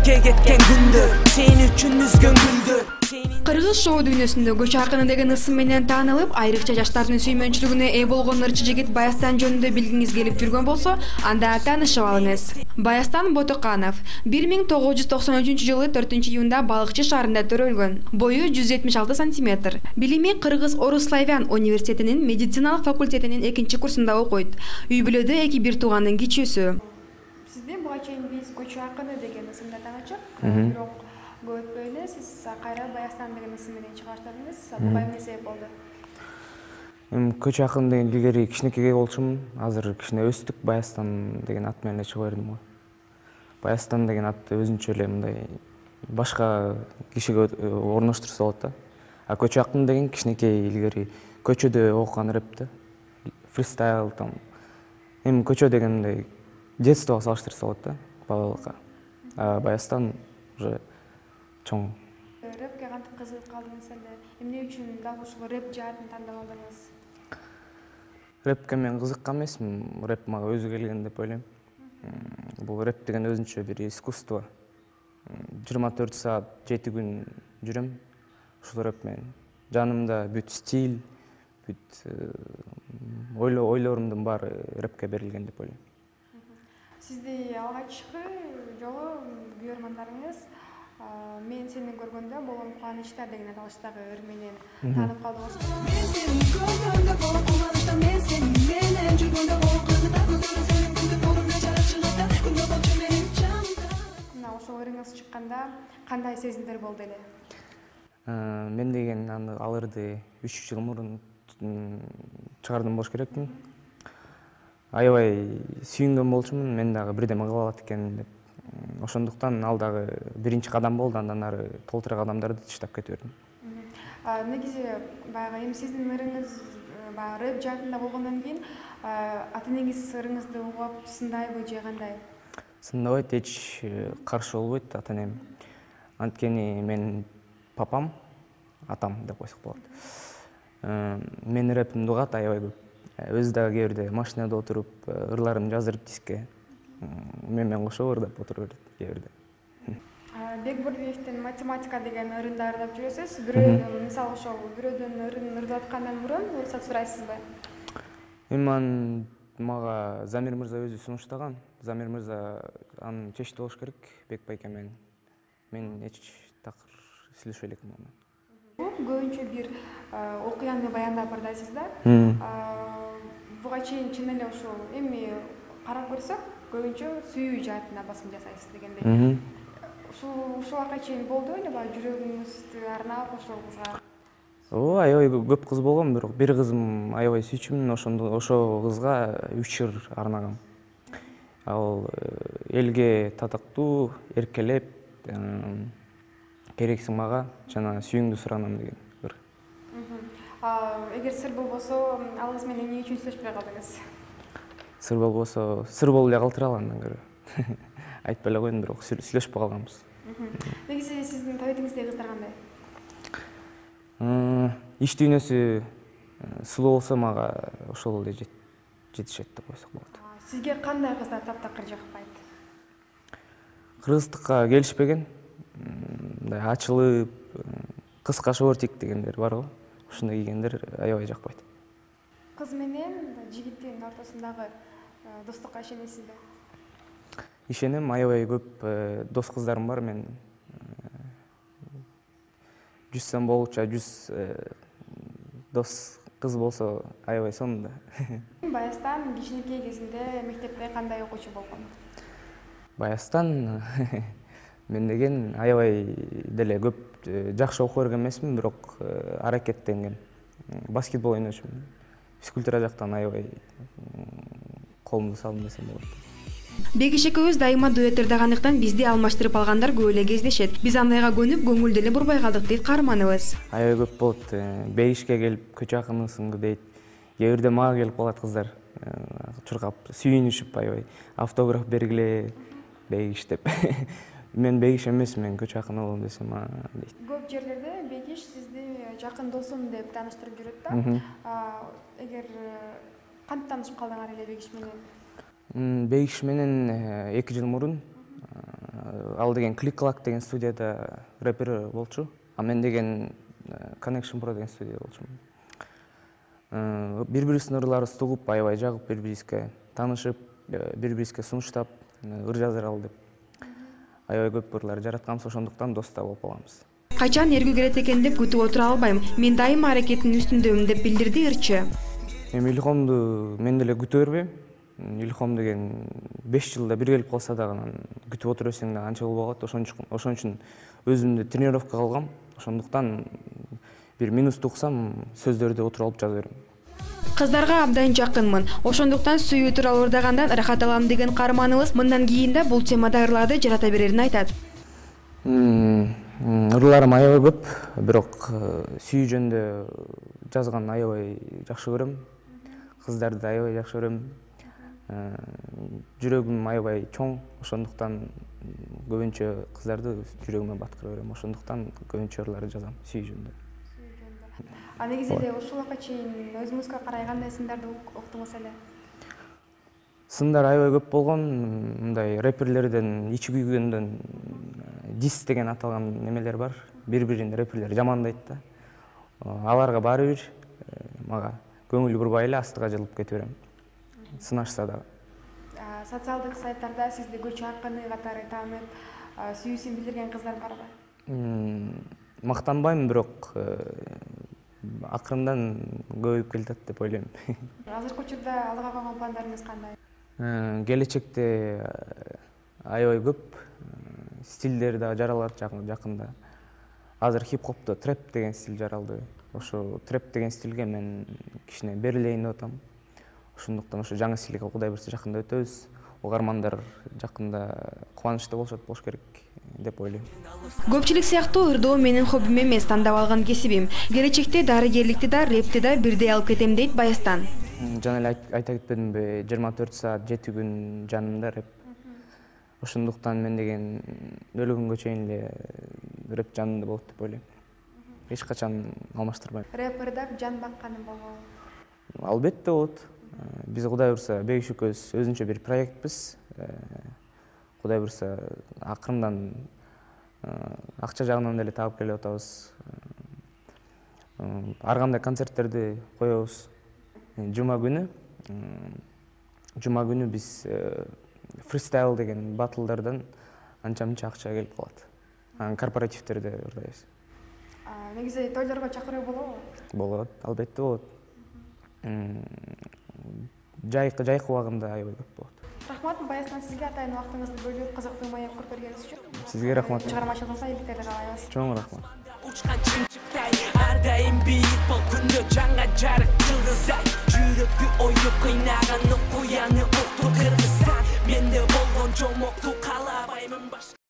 рэпке кеткен күндөр, сен үчүн үзгөн гүлдөр. Кыргыз шоу дүйнөсүндө көчө акыны деген ысым менен таанылып, айрыкча жаштардын сүймөнчүлүгүнө ээ болгон ырчы жигит Баястан жөнүндө билгиңиз келип жүргөн болсо, анда таанышып алыңыз. Баястан Ботоканов 1993-жылы 4-июнда Балыкчы шаарында төрөлгөн. Бою 176 сантиметр. Билими Кыргыз Орус-Славян университетинин медициналык факультетинин 2-курсунда окуйт. Үй бүлөдө 2 туугандын кичүүсү. Сизди буга чейин биз көчө акыны деген ысымда таанычык, бирок көп өтпөй эле сиз кайра Баястан деген ысым менен чыга баштадыңыз. Буга эмне себеп болду? Көчө акыны деген илгери кичинекей болчумун. Азыр кичине өстүк, Баястан деген ат менен чыга бердим го. Баястан деген ат өзүнчө эле мындай башка кишиге орноштурса болот да. А көчө акыны деген кичинекей илгери көчөдө окуган рэп да. Фристайл там. Көчө деген мындай детствого салыштырса болот да, балалыкка. А Баястан уже чоң. Рэпке кантип кызыгып калдыңыз эле? Эмне үчүн дал ушул рэп жаатын тандап алдыңыз? Рэпке мен кызыккан эмесмин, рэп мага өзү келген деп ойлойм. Бул рэп деген өзүнчө бир искусство. 24 саат 7 күн жүрөм ушул рэп менен. Жанымда бүт стиль, бүт ойлорумдун баары рэпке берилген деп ойлойм. Сизди алгачкы жолу күйөрмандарыңыз "Мен сени көргөндө болом кубанычта" деген аталыштагы ыр менен таанып калдыңыз. Мен сени көргөндө болом кубанычта, мен сени менен жүргөндө болом кызыкта, күндөрү сенин күтүп турумда жарык чыгатта, күндө болчу менин жанымда. Мына ошол ырыңыз чыкканда кандай сезимдер болду эле? Мен деген ал ырды 3 жыл мурун чыгардым болуш керекмин. Аябай сүйүнгөн болчумун, мен дагы бирдеме кыла алат экенмин деп. Ошондуктан ал дагы биринчи кадам болду, андан ары толтура кадамдарды таштап кете бердим. Негизи баягы эми сиздин ырыңыз баягы рэп жаатында болгондон кийин ата энеңиз ырыңызды угуп сындайбы же кандай? Сындабайт, эч каршы болбойт ата энем. Анткени менин папам, атам деп койсок болот. Менин рэпимди угат аябай көп. Өзү дагы кээ бирде машинада отуруп ырларын жаздырып диске мен менен кошо ырдап отуруп берет кээ бирде. Бекбурдиевдин математика деген ырында ырдап жүрөсүз. Бирөөдөн мисалы ошол бирөөдөн ырын ырдап аткандан мурун уруксат сурайсызбы? Эми мага Замир мырза өзү сунуштаган. Замир мырза анын чечти болуш керек Бек байке менен. Мен эч такыр сүйлөшпөй элекмин анан. Көбүнчө бир окуяны баяндап ырдайсыз да. Буга чейин чын эле ушул эми карап көрсөк, көбүнчө сүйүү жаатына басым жасайсыз дегендей. Ушулга чейин болду эле жүрөгүңүздү арнап ошол кызга? Аябай көп кыз болгон, бирок бир кызым аябай сүйчүмүн, ошол кызга 3 ыр арнагам. Ал элге татыктуу, эркелеп, керексиң мага жана сүйүүңдү суранам деген ыр. Эгер сыр болбосо, ал кыз менен эмне үчүн сүйлөшпөй калдыңыз? Сыр болбосо, сыр болуп эле калтыралы андан көрө. Айтпай эле коеюн, бирок сүйлөшпөй калганбыз. Негизи сиздин табитиңиздеги кыздар кандай? Иш дүйнөсү сулуу болсо мага ошол эле жетишет деп койсок болот. Сизге кандай кыздар таптакыр жакпайт? Кыргыздыкка келишпеген, мындай ачылып, кыска шортик дегендер бар го. Ушундай кийгендер аябай жакпайт. Кыз менен жигиттин ортосундагы достукка ишенесизби? Ишенем, аябай көп дос кыздарым бар. Мен 100 сом болчу 100 дос кыз болсо аябай сонун да. Баястан кичинекей кезинде мектепте кандай окуучу болгон? Баястан мен деген аябай деле көп жакшы окуп берген эмесмин, бирок аракеттенген. Баскетбол ойночумун. Физкультура жактан аябай колумду салдым десем болот. Бегиш экөөбүз дайыма дуэт ырдагандыктан бизди алмаштырып алгандар көп эле кездешет. Биз андайга көнүп, көңүлдү эле бурбай калдык дейт каарманыбыз. Аябай көп болот. Бегишке келип көчө акынысыңбы дейт. Кээ бирде мага келип калат кыздар. Чуркап, сүйүнүшүп аябай автограф бергиле Бегиш деп. Мен Бегиш эмесмин, көчө акыны болом десем, дейт. Көп жерлерде Бегиш сизди жакын досум деп тааныштырып жүрөт да. Эгер кантип таанышып калдыңар эле Бегиш менен? Бегиш менен 2 жыл мурун ал деген Click Clack деген студияда рэпер болчу, а мен деген Connection Pro деген студияда болчумун. Бири-бирибиздин ырларыбызды угуп, аябай жагып, бири-бирибизге таанышып, бири-бирибизге сунуштап, ыр жазыр ал деп аябай көп ырлар жаратканбыз, ошондуктан дос да болуп калганбыз. Качан эргүү келет экен деп күтүп отура албайм. Мен дайыма аракеттин үстүндөмүн деп билдирди ырчы. Эми Илхомду мен деле күтө бербейм. Илхом деген 5 жылда бир келип калса дагы анан күтүп отура берсең да анча болбогот. Ошон үчүн өзүмдү тренировкага алгам. Ошондуктан бир минуту уксам сөздөрдү отуруп алып жаза берем. Кыздарга абдан жакынмын. Ошондуктан сүйүү тууралуу ырдагандан ырахат алам деген каарманыбыз мындан кийин да бул темада ырларды жарата берерин айтат. Ырларым аябай көп, бирок сүйүү жөнүндө жазган аябай жакшы көрөм. Кыздарды аябай жакшы көрөм. Жүрөгүм аябай чоң, ошондуктан көбүнчө кыздарды жүрөгүмө баткыра берем. Ошондуктан көбүнчө ырларды жазам сүйүү жөнүндө. А негизи эле ушулга чейин өзүңүзгө карай кандай сындарды уктуңуз эле? Сындар аябай көп болгон, мындай рэперлерден ичи күйгөндөн дис деген аталган немелер бар. Бири-бирин рэперлер жамандайт да. Аларга баары бир, мага көңүл бурбай эле астыга жылып кете берем. Сынашса дагы. Социалдык сайттарда сизди көчө акыны катары таанып, сүйүүсүн билдирген кыздар барбы? Мактанбайм, бирок акырындан көбөйүп келатат деп ойлойм. Азыркы учурда алдыга койгон пландарыңыз кандай? Келечекте аябай көп стилдер да жаралат жакында. Азыр хип-хопто трэп деген стиль жаралды. Ошо трэп деген стилге мен кичине берилейин деп атам. Ошондуктан ошо жаңы стилге Кудай буйрса жакында өтөбүз. Угармандар жакында кубанычта болуш керек деп ойлойм. Көпчүлүк сыяктуу ырдоо менин хоббим эмес, тандап алган кесибим. Келечекте дарыгерликти да, репти да бирдей алып кетем дейт Баястан. Жана эле айта кетпедимби, 24 саат 7 күн жанымда реп. Ошондуктан мен деген өлү күнгө чейин эле реп жанымда болот деп ойлойм. Эч качан алмаштырбайм. Реп ырдап жан бакканым болобу? Албетте болот. Биз Кудай буйрса Бегиш экөөбүз өзүнчө бир проектпиз. Кудай буйрса акырындан акча жагынан деле таап келип атабыз. Ар кандай концерттерди коебуз. Жума күнү биз фристайл деген батлдардан анча-мынча акча келип калат. Анан корпоративтерде ырдайбыз. Негизи тойлорго чакыруу болобу? Болот, албетте болот. Жайкы убагында аябай көп болот. Рахмат Баястан, сизге атайын убактыңызды бөлүп, кызыктуу маек куруп бергениңиз үчүн. Сизге рахмат. Чыгармачылыгыңызга ийгиликтерди каалайбыз. Чоң рахмат. Учкан чымчыктай ар дайым бийик бол күндө жаңа жарык жылдыздай жүрөктү оюп кыйнаган окуяны укту кыргызстан менде болгон жомокту каалабаймын башка